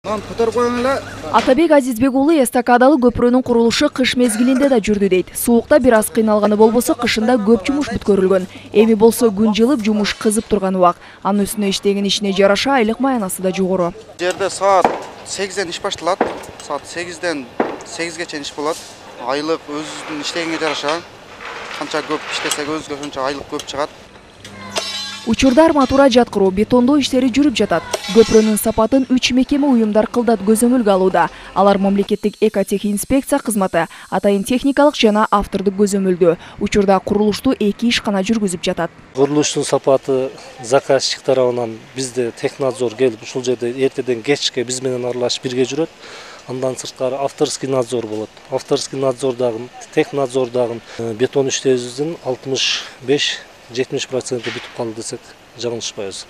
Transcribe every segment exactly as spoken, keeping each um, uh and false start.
Атабек Азизбек уулу эстакадалы көпүрөнүн курулушу кыш мезгилинде да жүрдү дейт. Суукта бир аз кыйналганы болбосо, кышында көп жумуш бүткөрүлгөн. Эми болсо күн жылып, жумуш кызып турган убак. Анын үстүнө иштеген ишине жараша айлык маянасы да жогору. Жерде саат сегизден иш башталат. Саат сегизден сегизге чейин иш болот. Айлык өзүнүн иштегенге жараша. Канча көп иштесек өзүгө ошончо айлык көп чыгат. Учурда арматура жаткыруу, бетондоо иштери жүрүп жатат. Көпүрөнүн сапатын үч мекеме уюмдар кылдат көзөмөлгө алууда. Алар мамлекеттик экотехинспекция кызматы, атайын техникалык жана автордук көзөмөлдөө. Учурда курулушту эки ишкана жүргүзүп жатат. Курулуштун сапаты заказчик тарабынан бизде технадзор келип, ушул жерде эртеден кечке биз менен аралашып бирге жүрөт. Андан сырткары авторский надзор болот. Авторский надзордагы, технадзордагы бетон иштебизин алтымыш беш жетимиш проценти бүтүп калды десек жаңылышпайбыз.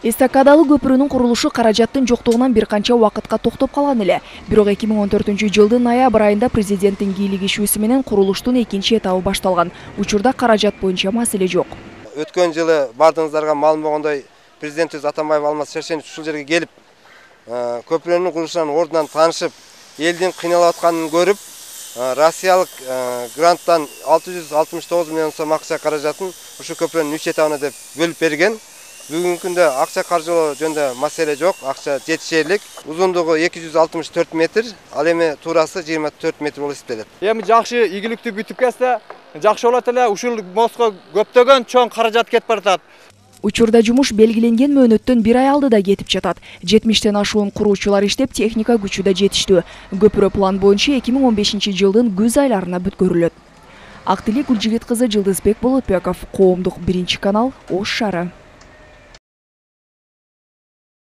Эстакадалы көпүрөнүн курулушу каражаттын жоктугунан бир канча убакытка токтоп калган эле. Бирок эки миң он төртүнчү жылдын ноябрь айында президенттин кийлигишүүсү менен курулуштун экинчи этабы башталган. Учурда каражат боюнча маселе жок. Өткөн жылы бардыгыңыздарга маалым болгондой, президентибиз Атамбаев Алмаз Шершенович ушул жерге келип, көпүрөнүн курулушунун ордунан таанышып, элдин кыйналып атканын көрүп, Россиялык гранттан алты жүз алтымыш тогуз миллион сом акча каражатын ушу көпүрөнүн үч этабына деп бөлүп берген. Бүгүнкү күндө акча каржылоо жөнүндө маселе жок, акча жетишерлик. Узундугу эки жүз алтымыш төрт метр, ал эми туурасы жыйырма төрт метр болуп эсептелет. Эми жакшы ийгиликтүү бүтүп кетсе, жакшы болот эле. Ушул мостко көптөгөн чоң каражат кетип баратат. Учурда жумуш белгиленген мөөнөттөн бир ай алдыда кетип жатат. жетимиштен ашуун куруучулар иштеп, техника күчү да жетиштүү. Көпүрө план боюнча эки миң он бешинчи жылдын күз айларына бүткөрүлөт. Актилек Гүлжигит кызы, Жылдызбек Болотбеков, Коомдук биринчи канал, Ош шаары.